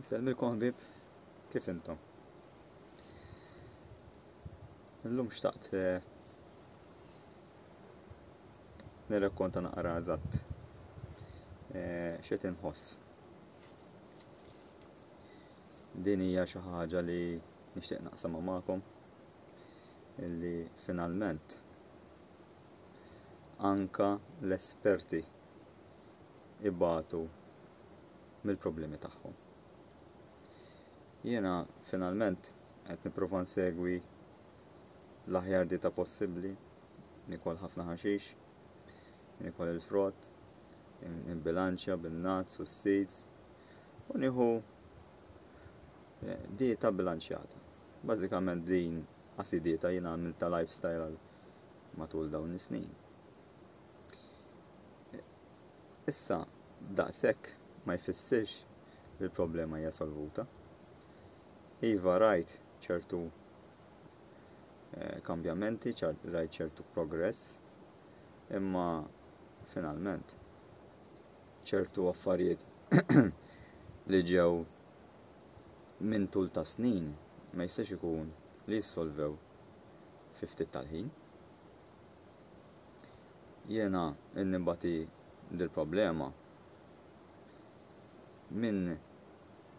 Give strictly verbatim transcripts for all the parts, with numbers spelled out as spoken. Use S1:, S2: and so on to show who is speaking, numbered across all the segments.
S1: Insellmilkom ħbieb, kif intom? Illum xtaqt eh, nirrakkonta naqra eżatt eh, x'qed inħoss. Din hija xi ħaġa li nixtieq naqsamha magħkom illi finalment anka l-esperti ibatu mill-problemi tagħhom. Jiena finalment qed nipprova nsegwi l-aħjar dieta possibbli, nikol ħafna ħaxix, nikol il-frott, nbilanċja bin-nuts u s-seeds u nieħu eh, dieta bilanċjata. Bażikament din qasi dieta jiena għamilta lifestyle għal matul dawn is-snin. Issa daqshekk ma jfissirx li l-problema hija solvuta. Iva rajt ċertu eh, kambjamenti, rajt ċertu progress, imma finalment ċertu affarijiet li ġew minn tul ta' snin ma jistax ikun li jissolvew fi ftit tal-ħin. Jiena nbati dil-problema minn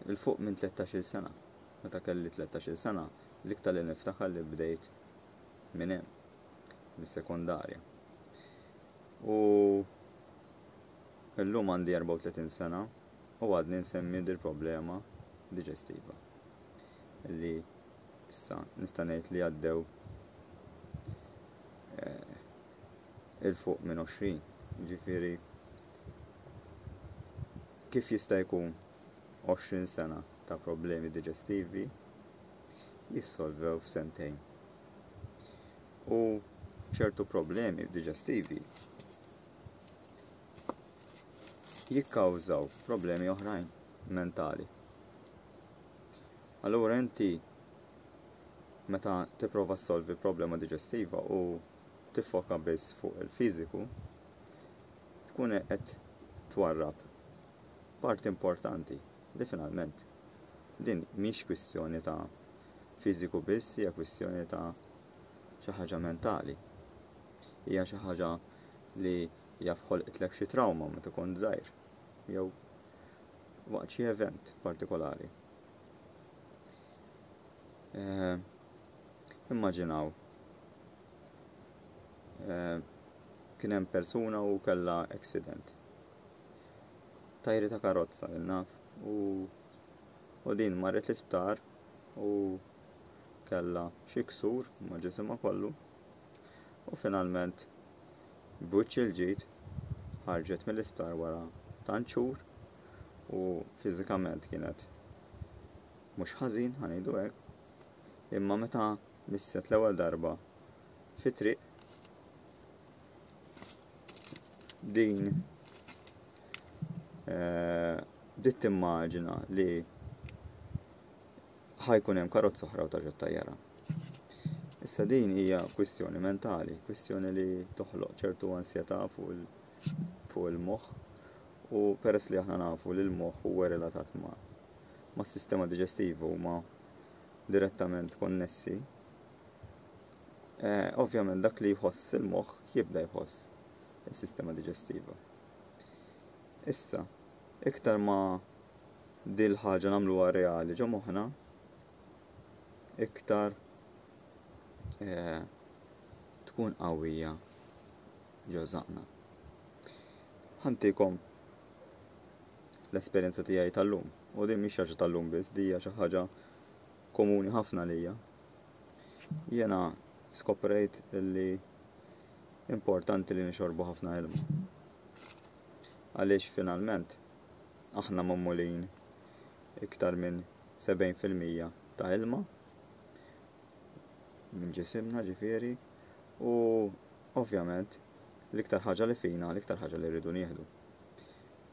S1: il-fuq minn tlettax-il sena. Meta kelli tlettax-il sena, l-iktar li niftakar li bdejt minn hemm, mis-sekondarja. U illum għandi erbgħa u tletin sena u għadni nsemmi dil-problema diġestiva. Li issa nista' ngħid li għaddew, eh, il-fuq minn għoxrin. Ġifieri kif jista' jkun għoxrin sena ta' problemi diġestivi jissolvew f'sentejn. U ċertu problemi diġestivi jikkawżaw problemi oħrajn mentali. Allura inti meta tipprova ssolvi problema diġestiva u tiffoka biss fuq il-fiżiku, tkun qed twarrab parti importanti li finalment din mhix kwistjoni ta' fiżiku biss, hija kwistjoni ta' xi ħaġa mentali. Hija xi ħaġa li jaf ħolqitlek xi trauma meta kont żgħir jew waqt xi event partikolari. Eh, immaġinaw, eh, kien hemm persuna u kellha accident. Tajri ta' karozza, naf, u, u din marret l-isptar u kellha xi ksur ma' ġisimha kollu u finalment b'wiċċ il-ġid ħarġet mill-isptar wara tant xhur u fiżikament kienet mhux ħażin, ħa ngħidu hekk, imma meta misset l-ewwel darba fit-triq din, eh, bdiet timmaġina li ħajkun hemm karozza oħra u tarġa' tajjara. Issa din hija kwistjoni mentali, kwistjoni li toħloq ċertu ansjetà fuq il-, fuq il-moħħ, u peress li aħna nafu li l-moħħ huwa relatat ma', ma' sistema diġestivu u ma' direttament konnessi, eh, ovvjament dak li jħoss il-moħħ jibda jħoss is-sistema diġestiva. Issa, iktar ma dil ħaġa nagħmluha reali ġo moħħna, iktar, eh, tkun qawwija ġo żaqna. Ħantikom l-esperjenza tiegħi tal-lum, u din mhix ħaġa tal-lum biss, din hija xi ħaġa komuni ħafna lija. Jiena skoprejt li importanti li nixorbu ħafna ilma. Għaliex finalment aħna magħmulin iktar minn sebgħin fil-mija ta' ilma minn ġisimna, ġifieri, u ovvjament l-iktar ħaġa li fina, l-iktar ħaġa li rridu nieħdu.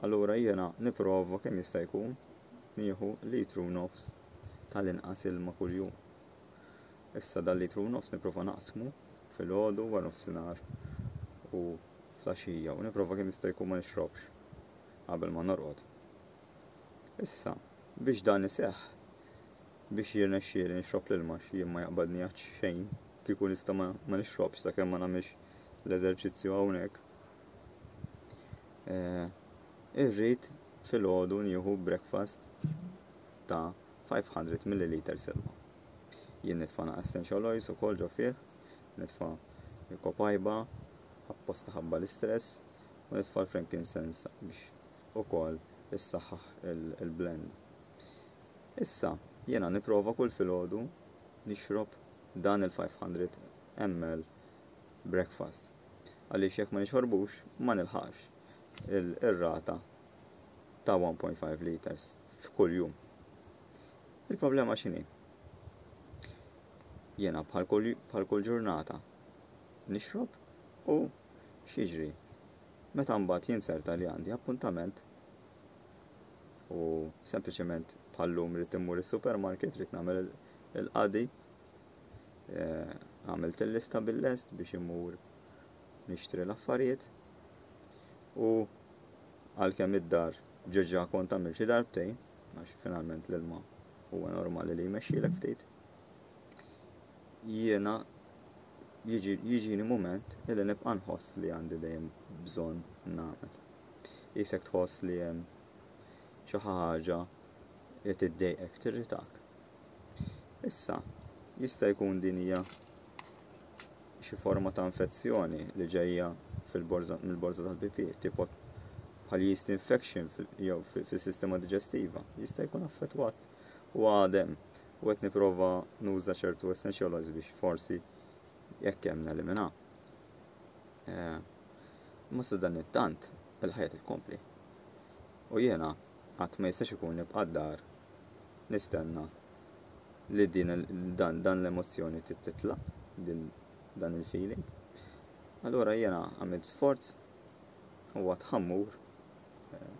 S1: Allura jiena nipprova kemm jista' jkun nieħu litru u nofs tal-inqas ilma kuljum. Issa dal litru u nofs nipprova naqsmu filgħodu, wara nofsinhar u flaxija, u nipprova kemm jista' jkun ma nixrobx qabel ma norqod. Issa, Biex dan iseħħ, biex jirnexxieli nixrob l-ilma, jien ma jaqbadni għad xejn, kieku nista' ma, ma nixrobx sakemm ma nagħmilx l-eżerċizzju hawnhekk. Eh, irrid filgħodu nieħu breakfast ta' five hundred milliliters ilma. Jien nitfa' essential oils ukoll ġo fih, nitfa' il-copaiba, apposta ħabba l-istress, u nitfa' l-frankincense biex ukoll issaħħaħ il-blend. Issa, jiena nipprova kull filgħodu nixrob dan il-five hundred milliliters breakfast. Għaliex jekk ma nixorbux, ma nilħaqx il-rata ta' one point five liters f'kull jum. Il-problema x'inhi? Jiena bħal kull ġurnata nixrob u x'jiġri? Meta mbagħad jinserta li għandi appuntament u sempliċement bħal-lum rrid immur is-supermarket, rrid nagħmel il-qadi, eh, għamilt il-lista bil-lest biex immur nixtri l-affarijiet u għalkemm id-dar ġeġa kont għamil xi darbtejn, għax finalment l-ilma huwa normali li jmexxilek ftit. Jiena jiġini moment illi nibqa' nħoss li għandi dejjem bżonn nagħmel. Isek tħoss li hemm xi ħaġa li tiddejqek, tirritak. Issa, jista' jkun din hija xi forma ta' infezzjoni li ġejja fil-borża mill-borża tal-pipi, tipo bħal yeast infection jew fis-sistema diġestiva. Jista' jkun affettwat u għadem u qed nipprova nuża ċertu essential oils biex forsi jekk hemm nelimina. Eh, ma sa dan it-tant il-ħajja tkompli. U jiena qatt ma jistax ikun nibqa' d-dar nistenna li din dan, dan l-emozzjoni titlaq, din dan il-feeling. Allura jiena għamilt sforz u għad ħa mmur eh,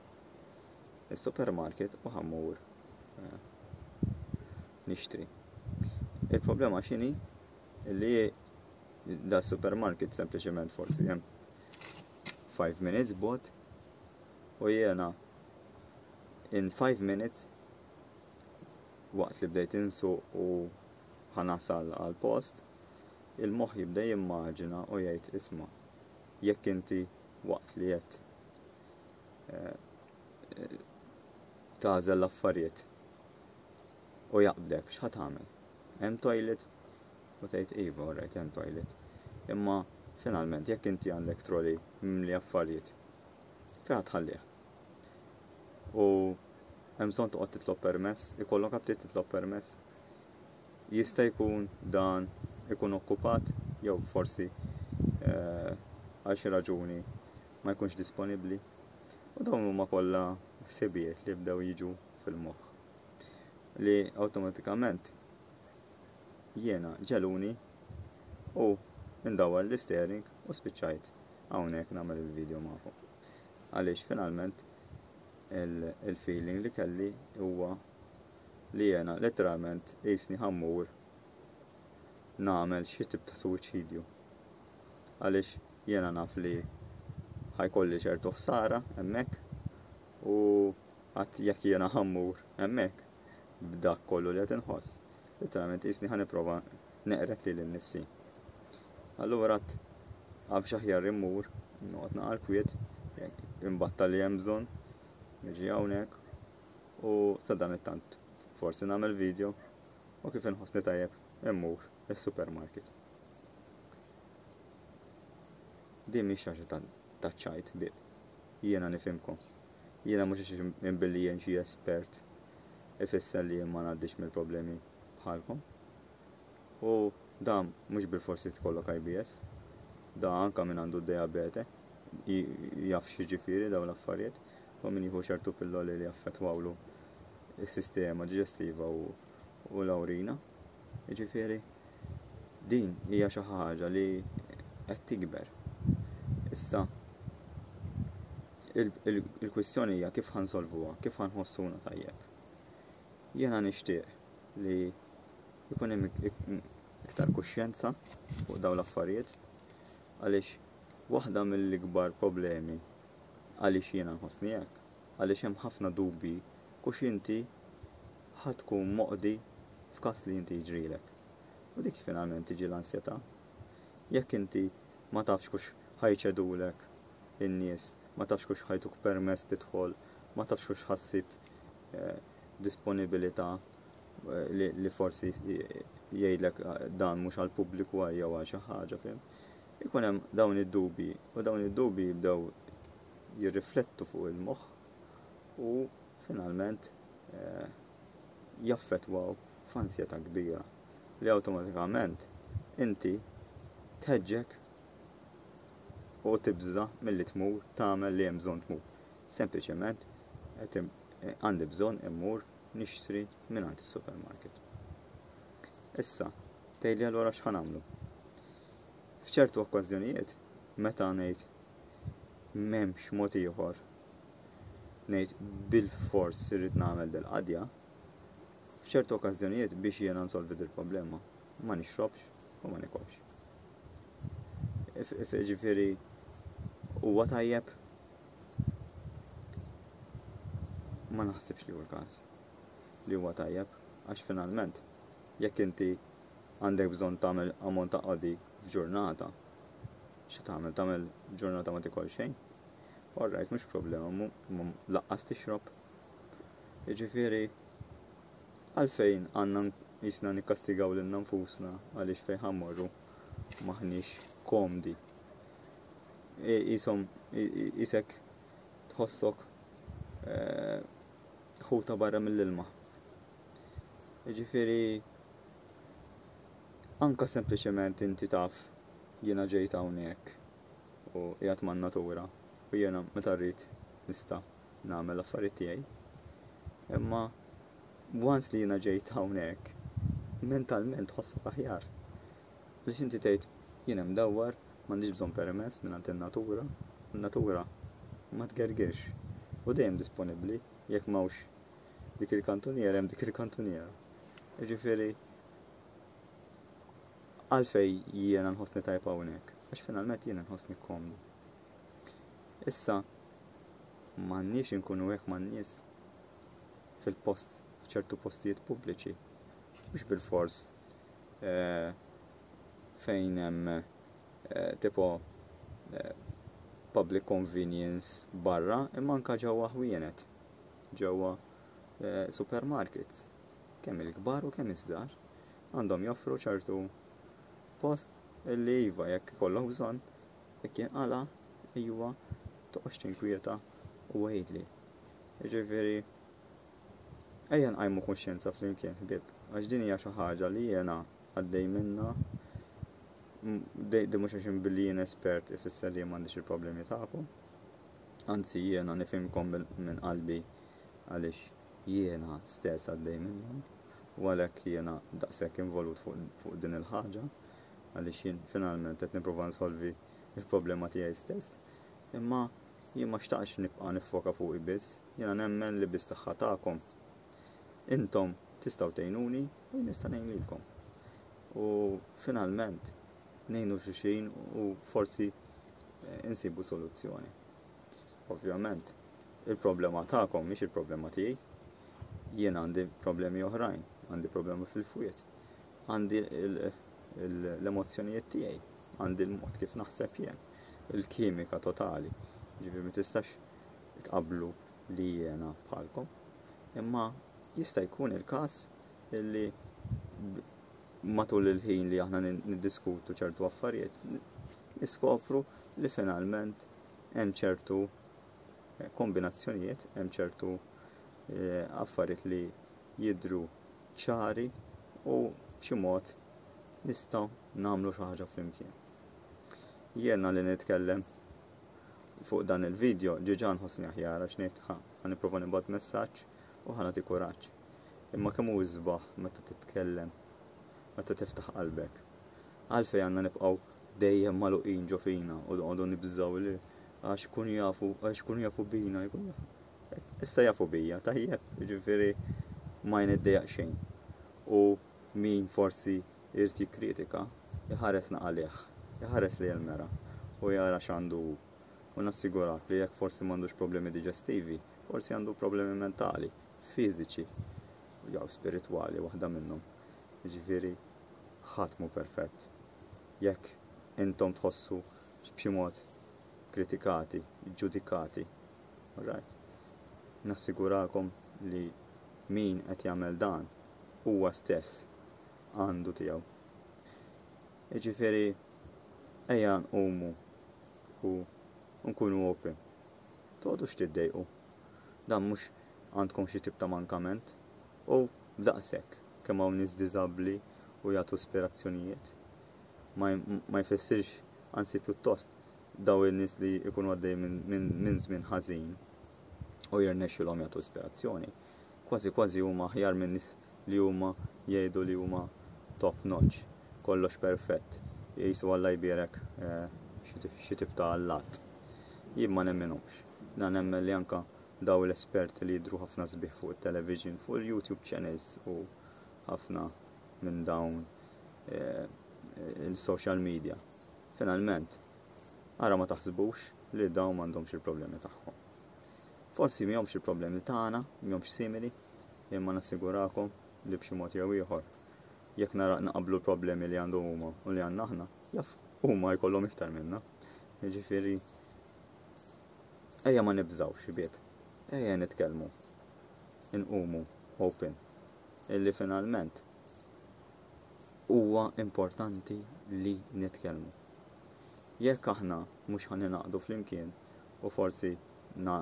S1: il-supermarket u ħa mmur eh, nixtri. Il-problema x'inhi? Li da supermarket sempliċement forsi hemm five minutes bogħod u jiena in five minutes waqt li bdejt insuq u ħa nasal għal post, il-moħħ jibda jimmaġina u jgħid, "Isma', jekk inti waqt li qed eh, eh, tagħżel l-affarijiet u jaqbdek, x'ħa tagħmel? Hemm toilet?" U tgħid, "Iva, alright, hemm toilet." Imma finalment jekk inti għandek trolley mimli affarijiet, fejn tħallih? U hemm bżonn toqgħod titlob permess, ikollok aptit titlob permess. Jista' jkun dan ikun okkupat jew forsi eh, għal xi raġuni ma jkunx disponibbli. U dawn huma kollha ħsibijiet li bdew jiġu fil-moħħ li awtomatikament jiena ġegħluni u ndawwar l-steering u spiċċajt hawnhekk nagħmel il-video magħkom. Għaliex finalment il-feeling li kelli huwa li jena letteralment jisni ħa mmur nagħmel xi tip ta' suwiċidju. Għaliex jena naf li ħa jkolli ċertu ħsara hemmhekk u għat jekk jena ħa mmur hemmhekk b'dak kollu li qed inħoss, letteralment jisni ħa nipprova neqred lili nnifsi. Allura għax aħjar immur, noqgħod naqra kwiet, imbatta li hemm bżonn, niġi hawnhekk u sa dan it-tant forsi nagħmel video u kif inħossni tajjeb immur is-supermarket. Din mhix xi ħaġa ta' ċajt bib. Jiena nifhimkom. Jiena mhux minn billi jien xi espert ifisser li jien ma ngħaddix mill-problemi bħalkom. U dan mhux bil-forsi tkollok I B S, da anka min għandu diabete jaf x'jiġifieri dawn l-affarijiet u min jieħu ċertu pilloli li jaffettwawlu is-sistema diġestiva u, u l-awrina. Jiġifieri din hija xi ħaġa li qed tikber. Issa il-kwistjoni hija kif ħa nsolvuha, kif ħa nħossuna tajjeb. Jiena nixtieq li jkun hemm iktar kuxjenza fuq dawn l-affarijiet, għaliex waħda mill-ikbar problemi għaliex jiena nħossni hekk, għaliex hemm ħafna dubi kux inti ħa tkun moqdi f'każ li inti jiġrilek. U dik finalment tiġi l-ansjetà. Jekk inti ma tafx kux ħa jċedulek in-nies, ma tafx kux ħa jtuk permess tidħol, ma tafx kux ħa ssib eh, disponibilità eh, li, li forsi jgħidlek eh, dan mhux għall-pubbliku jew għal xi ħaġa, fim. Ikun hemm dawn id-dubi u dawn id-dubi jibdew jirriflettu fuq il-moħħ u finalment eh, jaffettwaw f'ansjetà kbira li awtomatikament inti tħeġġek u tibża milli tmur tagħmel li hemm bżonn tmur. Sempliċement għandi bżonn immur nixtri mingħand is-supermarket. Issa, tgħidli allura x'ħa nagħmlu? F'ċertu okkażjonijiet, meta ngħid m'hemmx mod ieħor, ngħid bil-fors irrid nagħmel dil-qadja, f'ċertu okkażjonijiet biex jiena nsolvi dil-problema, ma nixrobx u ma nikolx. Ġifieri huwa tajjeb? Ma naħsibx li huwa l-każ li huwa tajjeb, għax finalment jekk inti għandek bżonn tagħmel ammont ta' qadi f'ġurnata, xi tagħmel? Tagħmel ġurnata ma tikol xejn? All right, mhux problema, laqqas tixrob. Jiġifieri għalfejn għandna jisna nikkastigaw lilna nfusna għaliex fejn ħa mmorru maħniex komdi. Isom, isek tħossok ħuta barra mill-ilma. Jiġifieri anka sempliċement inti taf jiena ġejt hawnhekk u qiegħed man-natura u jiena meta rrid nista' nagħmel l-affarijiet tiegħi. Imma once li jiena ġejt hawnhekk, mentalment tħossok aħjar. Biex inti tgħid jien hemm dawwar, m'għandix bżonn permess mingħand in-natura, in-natura ma tgergirx u dejjem disponibbli jekk m'hawnx dik il-kantuniera hemm dik il-kantuniera. Jiġifieri għalfej jiena nħossni tajb hawnhekk, għax finalment jiena nħossni komdu. Issa m'għandniex inkunu hekk man-nies fil-post, f'ċertu postijiet pubbliċi, mhux bil-fors eh, fejn hemm eh, tipo eh, public convenience barra, imma anka ġewwa ħwienet, ġewwa supermarkets, kemm il-kbar u kemm iż-żgħar, għandhom joffru ċertu post illi iva jekk ikollok bżonn, jekk jinqala, iva toqgħodx tinkwieta u għidli. Jiġifieri ejja nqajmu kuxjenza flimkien ħbieb, għax din hija xi ħaġa li jiena għaddej minnha, di mhux għax billi jien espert ifisser li m'għandix il-problemi tagħkom. Anzi jiena nifhimkom minn qalbi għaliex jiena stess għaddej minnhom u għalhekk jiena daqshekk involut fuq, fuq din il-ħaġa għaliex jien finalment qed nipprova nsolvi il-problema tiegħi stess. Imma jien ma xtaqx nibqa' niffoka fuqi biss, jiena nemmen li bis-saħħa tagħkom intom tistgħu tgħinuni u nista' ngħin lilkom. U finalment ngħinu xulxin u forsi insibu soluzzjoni. Ovvjament, il-problema tagħkom mhix il-problema tiegħi. Jien għandi problemi oħrajn, għandi problemi fil-fwiet, għandi l-emozzjonijiet tiegħi, għandi l-mod kif naħseb jien, il-kimika totali. Ġifieri ma tistax tqablu li jiena bħalkom. Imma jista' jkun il-każ illi matul il-ħin li aħna niddiskutu ċertu affarijiet, niskopru li finalment hemm ċertu kombinazzjonijiet, hemm ċertu affarijiet li jidhru ċari u b'xi mod nistgħu nagħmlu xi ħaġa flimkien. Jiena li nitkellem fuq dan il-video ġiġa nħossni aħjar għax ngħid ħa ħa nipprova nibgħat messaġġ u ħa nagħti kuraġġ. Imma kemm hu isbaħ meta titkellem, meta tiftaħ qalbek. Għalfejn għandna nibqgħu dejjem magħluqin ġo fina u noqogħdu nibżgħu li għax ikunu jafu, għax ikunu jafu bina, jkunu jafu. Issa jafu bija, tajjeb, jiġifieri ma jniddejjaq xejn. U min forsi irid jikkritika, iħares naqalih, iħares li l-mera u jara x'għandu hu. U nassigurak li jekk forsi m'għandux problemi diġestivi, forsi għandu problemi mentali, fiżiċi, jew spiritwali waħda minnhom. Jiġifieri ħadd mhu perfett. Jekk intom tħossu b'xi mod kritikati, ġudikati, alright? Nassigurakom li min qed jagħmel dan huwa stess għandu tiegħu. Jiġifieri ejja nqumu u nkunu open. Toqgħodux tiddejqu. Dan mhux għandkom xi tip ta' mankament u daqshekk kemm hawn nies diżabbli u jagħtu ispirazzjonijiet. Ma, ma jfissirx, anzi pjuttost daw in-nies li jkunu għaddej minn min żmien ħażin u jirnexxilhom jagħtu ispirazzjoni. Kważi kważi huma aħjar minn nies li huma jgħidu li huma top notch, kollox perfett, jisu Alla jbierek eh, xi tip ta' allat. Jien ma nemminhomx. Na nemmen li anka daw l-esperti li jidru ħafna sbieħ fuq il-television, fuq il-YouTube channels u ħafna minn dawn eh, il-social media. Finalment, ara ma taħsbux li dawn m'għandhomx il-problemi tagħhom. Forsi m'homx il-problemi tagħna, m'homx simili, imma nassigurakom li b'xi mod jew ieħor jekk nara naqablu l-problemi li għandhom huma u li għandna aħna, jaf huma jkollhom iktar minna. Jiġifieri ejja ma nibżgħux ħbieb. Ejja nitkellmu. Inqumu open. Illi finalment huwa importanti li nitkellmu. Jekk aħna mhux ħa ningħaqdu flimkien u forsi na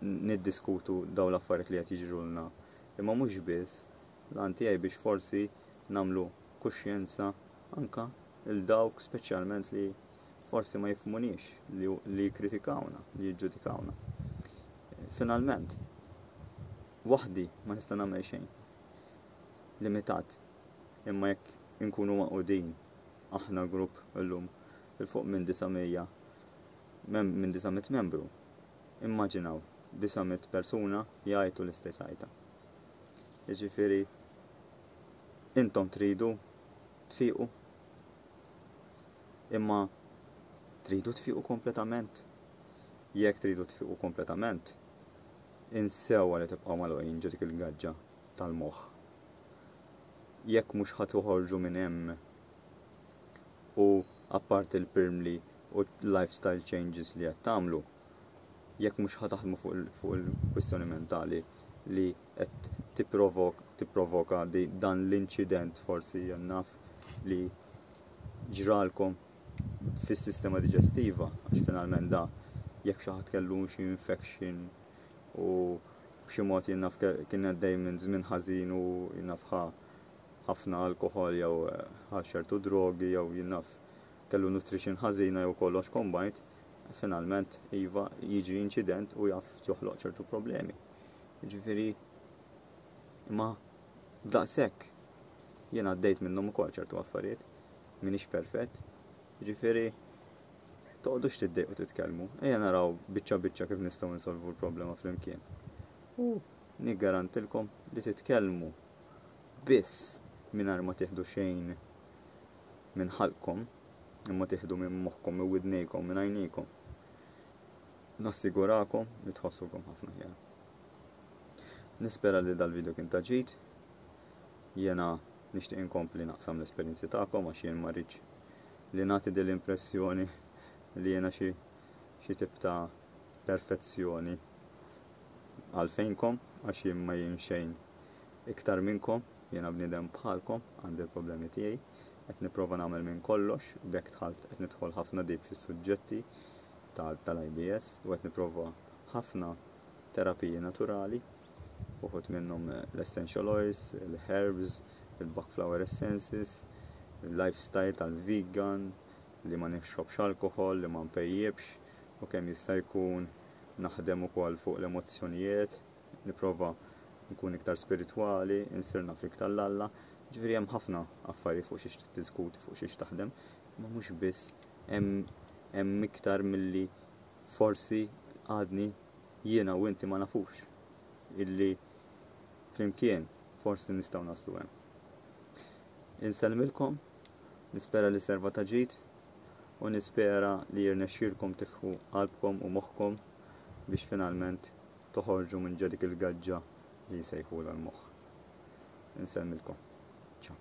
S1: niddiskutu daw l-affarijiet li qed jiġrulna, imma mhux biss l-għan tiegħi biex forsi nagħmlu kuxjenza anka il dawk speċjalment li forsi ma jifhmunix, li, li jikkritikawna, li jiġġudikawna. Finalment, waħdi ma nista' nagħmel xejn. Limitat. Imma jekk inkunu magħqudin aħna grupp illum 'il fuq minn disa' mija minn disa' mitt membru. Immaġinaw disa' mitt persuna jgħajtu l-istess għajta. Jiġifieri intom tridu tfiqu, imma tridu tfiqu kompletament. Jekk tridu tfiqu kompletament, insewwa li tibqgħu magħluqin ġo dik il-gaġġa tal-moħħ. Jekk mhux ħa toħorġu minn hemm u apparti il-pirmli u lifestyle changes li qed tagħmlu, jekk mhux ħa taħdmu fuq il-kwistjoni mentali li qed tipprovoka dan l-inċident forsi naf li ġralkom fis-sistema diġestiva, għax finalment da jekk xi ħadd kellu xi infection u b'xi mod jien naf kien għaddej minn żmien ħażin u jien naf ħafna alkohol jew ħa ċertu drogi jew jien naf kellu nutrition ħażina jew kollox combined, finalment iva jiġi inċident u jaf joħloq ċertu problemi. Ġifieri ma daqshekk jien għaddejt minnhom ukoll ċertu affarijiet, m'iniex perfett. Ġifieri toqgħodux tiddejqu titkellmu, ejja naraw biċċa biċċa kif nistgħu nsolvu l-problema flimkien. U niggarantilkom li titkellmu biss mingħajr ma tieħdu xejn minn ħalqkom, imma tieħdu minn moħħkom, minn widnejkom, minn għajnejkom. Nassigurakom li tħossukom ħafna aħjar. Nispera li dal-video kien ta' ġid. Jena nixtieq inkompli naqsam l-esperjenzi tagħkom għax jien ma rridx li nagħti din l-impressjoni li jiena xi xi tip ta' perfezzjoni għalfejnkom, għax jien ma jien xejn iktar minnkom, jiena bniedem bħalkom, għandi l-problemi tiegħi, qed nipprova nagħmel minn kollox, b'hekk dħalt qed nidħol ħafna deep fis-suġġetti tal-I B S u qed nipprova ħafna terapiji naturali, uħud minnhom l-essential oils, il-herbs, il-Bach flower essences, il-lifestyle tal-vegan, li ma nixrobx alkohol, li ma npejjibx, u kemm jista' jkun naħdem ukoll fuq l-emozzjonijiet, nipprova nkun iktar spiritwali, insir naf iktar 'l Alla. Ġifieri hemm ħafna affarijiet fuq xiex tiddiskuti, fuq xiex taħdem, ma mhux biss hemm hemm iktar milli forsi għadni jiena u inti ma nafux illi flimkien forsi nistgħu naslu hemm. Insellmilkom, nispera li serva ta' ġid u nispera li jirnexxilkom tiftħu qalbkom u moħħkom biex finalment toħorġu minn ġo dik il-gaġġa li jsejħu l-moħħ. Insellmilkom. Ciao.